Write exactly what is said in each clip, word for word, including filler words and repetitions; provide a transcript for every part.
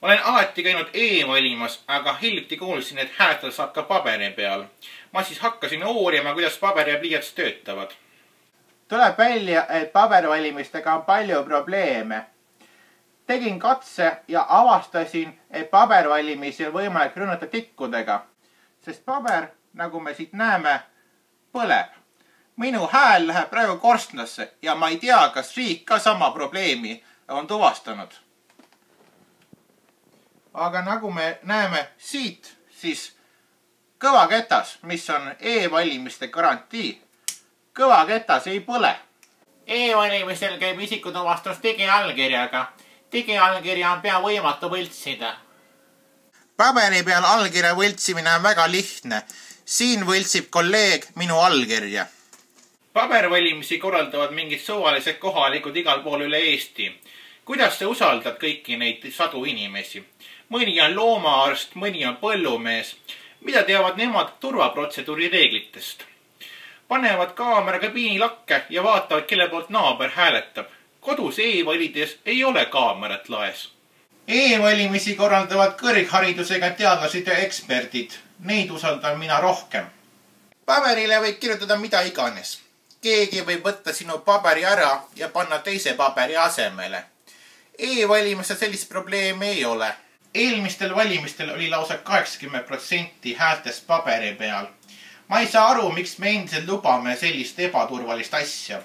olen alati käinud e-valimas, aga hiljuti kuulsin, et hääletada saab ka paberi peal. Ma siis hakkasin uurima, kuidas paber ja pliiats töötavad. Tuleb välja, et pabervalimistega on palju probleeme. Tegin katse ja avastasin, et pabervalimisi on võimalik rünnata tikkudega, sest paber, nagu me siit näeme, põleb. Minu hääl läheb praegu korstnasse ja ma ei tea, kas riik ka sama probleemi on tuvastanud. Aga nagu me näeme siit, siis kõvaketas, mis on e-valimiste garantii, kõvaketas ei põle. E-valimistel käib isikutuvastus digiallkirjaga. Digiallkirja on pea võimatu võltsida. Paberi peal allkirja võltsimine on väga lihtne. Siin võltsib kolleeg minu allkirja. Pabervalimisi korraldavad mingid suvalised kohalikud igal pool üle Eesti. Kuidas sa usaldad kõiki neid sadu inimesi? Mõni on loomaarst, mõni on põllumees. Mida teavad nemad turvaprotseduuri reeglitest? Panevad kaamera kabiinilakke ja vaatavad, kelle poolt naaber hääletab. Kodus e-valides ei ole kaamerat laes. E-valimisi korraldavad kõrgharidusega teadlased ja eksperdid. Neid usaldan mina rohkem. Paberile võib kirjutada mida iganes. Keegi võib võtta sinu paberi ära ja panna teise paberi asemele. E-valimiste sellist probleemi ei ole. Eelmistel valimistel oli lausa kaheksakümmend protsenti häältest paberi peal. Ma ei saa aru, miks me endiselt lubame sellist ebaturvalist asja.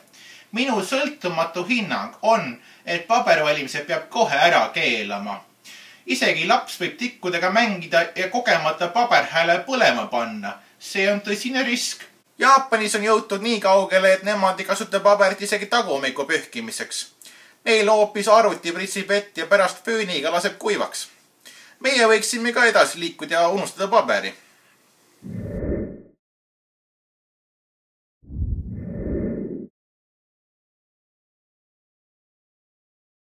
Minu sõltumatu hinnang on, et pabervalimise peab kohe ära keelama. Isegi laps võib tikkudega mängida ja kogemata paberhääle põlema panna. See on tõsine risk. Jaapanis on jõutud nii kaugele, et nemad ei kasuta paberit isegi tagumiku pühkimiseks. Neil hoopis arvuti pritsib vett ja pärast fööniga laseb kuivaks. Meie võiksime ka edasi liikuda ja unustada paberi.